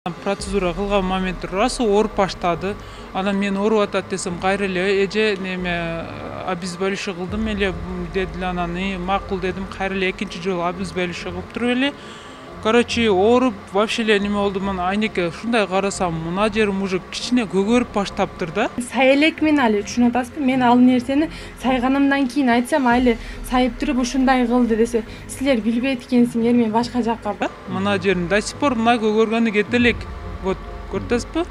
Процедура кылган моментте расы ооруп баштады. Анан мен ооруп атат десем, кайра эле эже неме обезболивающий кылдым эле дедилер. Анан макул дедим, кайра эле экинчи жолу обезболивающий кылып туруп эле. Короче, ооруп вообще эле неме болду. Мына айнеке ушундай карасам, мына жерим уже кичине көгөрүп баштаптыр да. Сай элек мен али түшүнүп атасызбы? Мен ал нерсени сайганымдан кийин айтсам, айли сайып туруп ушундай кылды десе, силер билбейт экенсиңер, мен башка жакка. Мына жерим до сих пор мына көгөргөнү кете элек. Вот, көрдүңүзбү?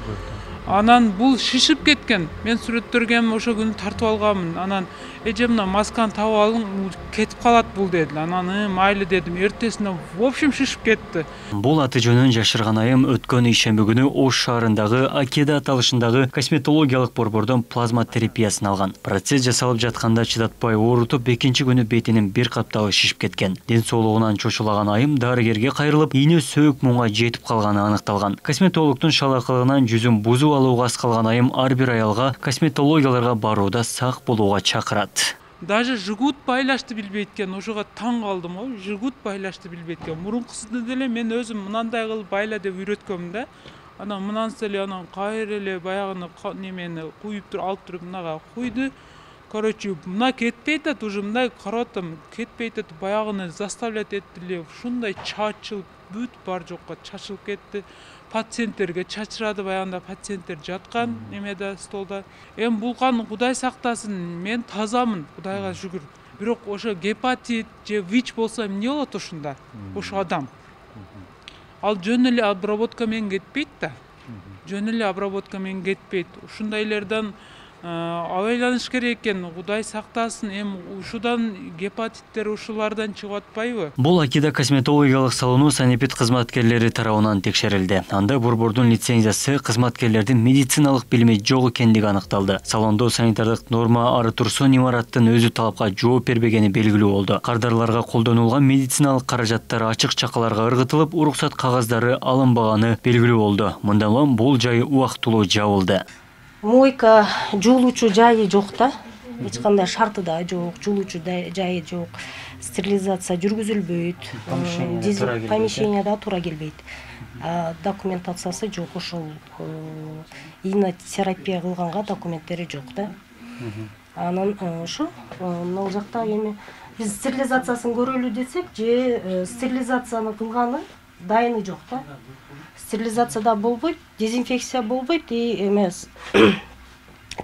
Анан бул шишип кеткен. Мен сүрөттөргө ошо күнү тартып алганмын. Анан эже мына масканы табып алың, кетип калат бул дедилер. Анан майли дедим. Эртесинен в общем шишип кетти. Бул аты жөнүн жашырган айым өткөн ишемби күнү Ош шаарындагы Акеда аталышындагы косметологиялык борбордон плазма терапиясын алган. Процесс жасалып жатканда чыдатпай оорутуп, экинчи күнү бетинин бир каптагы шишип кеткен. Ден соолугунан чочулаган айым дарыгерге кайрылып, ийне сөөк муңга жетип калганы аныкталган. Косметологдун шалакылыгынан жүзүн бузуп алууга аз калган айым ар бир аялга косметологияларга барууда сак болууга чакырат. Даже жигут байлашты билбейт экен, ошого таң калдым го. Жигут байлашты билбейт экен. Мурункусунда деле мен өзүм мынандай кылып байла деп үйрөткөм да. Анан мынансыз эле анан кайра эле баягыны немени куюп туруп алып туруп мынага куйду. Короче, мына кетпей атат, уже мындай карап атам, кетпей атат, баягыны заставлять этти эле. Ушундай чачылып, бүт бар жокко чачылып кетти. Пациенттерге чачырады, баягында пациенттер жаткан немеде столда. Булкан Кудай сактасын, мен тазамын, Кудайга шүгүр. Бирок ошо гепатит же ВИЧ болсо эмне болот ошондо? Ошо адам. Ал жөн эле обработка менен кетпейт да. Жөн эле обработка менен кетпейт. Ушундайлардан абайланыш керек экен. Кудай сактасын, ушудан гепатиттер ушулардан чыгып атпайбы? Бул Акеда косметологиялык салону санэпид кызматкерлери тарабынан текшерилди. Анда борбордун лицензиясы, кызматкерлердин медициналык билими жок экендиги аныкталды. Салондо санитардык норма ары турсун имараттын өзү талапка жооп бербегени белгилүү болду. Кардарларга колдонулган медициналык каражаттар ачык чакаларга ыргытылып, уруксат кагаздары алынбаганы белгилүү болду. Мындан улам бул жай убактылуу жабылды. Мойка жуулуучу жайы жок да. Эч кандай шарты да жок, жуулуучу жайы жок. Стерилизация жүргүзүлбөйт. Помещенияда туура келбейт. Документациясы жок, ошол инотерапия кылганга документтери жок да. Анан ушу мына жакта эми биз стерилизациясын көрөлү десек, же стерилизацияны кылганы дайыны жок да. Стерилизация да болбойт, дезинфекция болбойт, эмес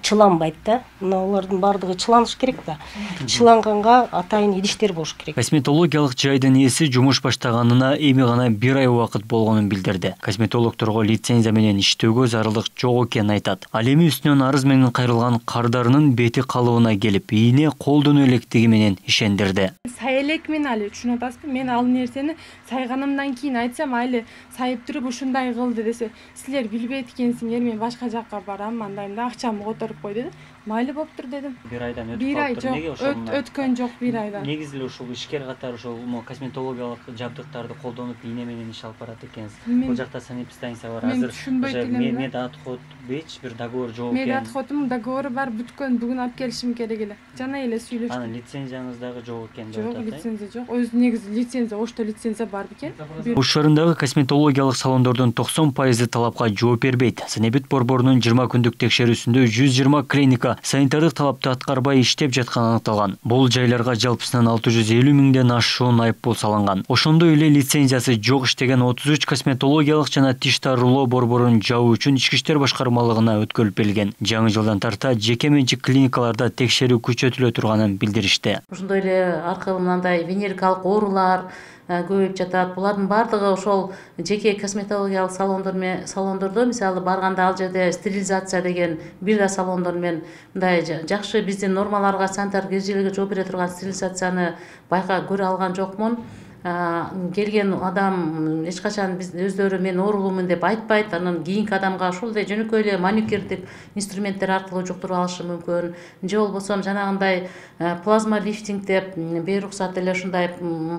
чыланбайт да. Мына алардын бардыгы чыланыш керек да. Чыланганга атайын идиштер болуш керек. Косметологиялык жайдын ээси жумуш баштаганына эми гана 1 ай убакыт болгонун билдирди. Косметологторго лицензия менен иштөөгө зарылдык жок экенин айтат. Ал эми үстүнөн арыз менен кайрылган кардарынын бети калыбына келип, ийне колдоно элекдиги менен ишендирди. Сай элек мен али түшүнүп атасызбы? Мен ал нерсени сайганымдан кийин айтсам, айли сайып туруп ушундай кылды десе, силер билбейт экенсиңер, мен башка жакка барам, андайда акчамды которуп кой деди. Майли болуптур дедим. 1 айдан өтүп калыптыр. Неге ошол? Өткөн жок 1 айдан. Негизи эле ушул ишкер катары ошол косметологиялык жабдыктарды колдонуп ийне менен иш алып барат экенсиз. Бул жакта санэпид станция бар. Азыр медотход беч бир договор жок экен. Медотходдун договору бар, бүткөн. Бүгүн алып келишим керек эле. Жана эле сүйлөштүк. Анан лицензияңыз дагы жок экен деп атат. Жок, лицензия жок. Өзү негизи лицензия, Ошто лицензия бар бекен. Ош шаарындагы косметологиялык салондордун 90% талапка жооп бербейт. Санэпид борборунун 20 күндүк текшерүүсүндө 120 клиника санитардык талапты аткарбай иштеп жатканы аныкталган. Бул жайларга жалпысынан 650 миңден ашуун айыппул салынган. Ошондой эле лицензиясы жок иштеген 33 косметологиялык жана тиш дарылоо борборун жабуу үчүн Ички иштер башкармалыгына өткөрүлүп берилген. Жаңы жылдан тарта жеке менчик клиникаларда текшерүү күчөтүлө турганын билдиришти. Ошондой эле аркылуу мындай венерикалык оорулар көбөйүп жатат. Булардын бардыгы ошол жеке косметологиялык салондордо мисалы барганда ал жерде стерилизация деген бир да салондор менен мындай жакшы биздин нормаларга, санитардык эрежелерге жооп бере турган стерилизацияны байка көрө алган жокмун. Келген адам эч качан биз өздөрү мен оорулуумун деп айтпайт. Анан кийинки адамга ошол эле жөнөкөй эле маникюрдик инструменттер аркылуу жуктуруп алышы мүмкүн. Же болбосо жанагындай плазма лифтинг деп бейруксат эле ушундай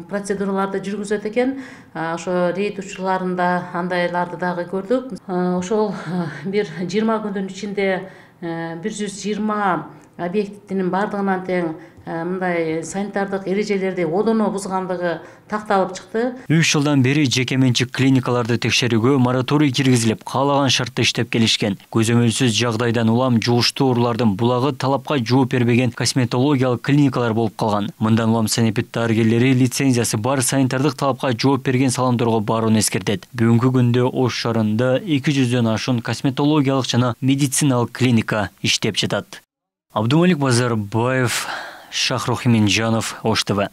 процедураларды жүргүзөт экен. Ошо рейд учурларында андайларды дагы көрдүк. Ошол бир 20 күндүн ичинде 120 объектинин бардыгынан тең мындай санитардык эрежелерди одоно бузгандыгы такталып чыкты. 3 жылдан бери жекеменчик клиникаларды текшерүүгө мораторий киргизилип, каалаган шартта иштеп келишкен. Көзөмөлсүз жагдайдан улам жугуштуу оорулардын булагы талапка жооп бербеген косметологиялык клиникалар болуп калган. Мындан улам санэпид дарыгерлери лицензиясы бар санитардык талапка жооп берген салондорго барууну эскертет. Бүгүнкү күндө Ош шаарында 200дөн ашуун косметологиялык жана медициналык клиника иштеп жатат. Абдумалик Базарбаев, Шахрух Минжанов, Ош ТВ.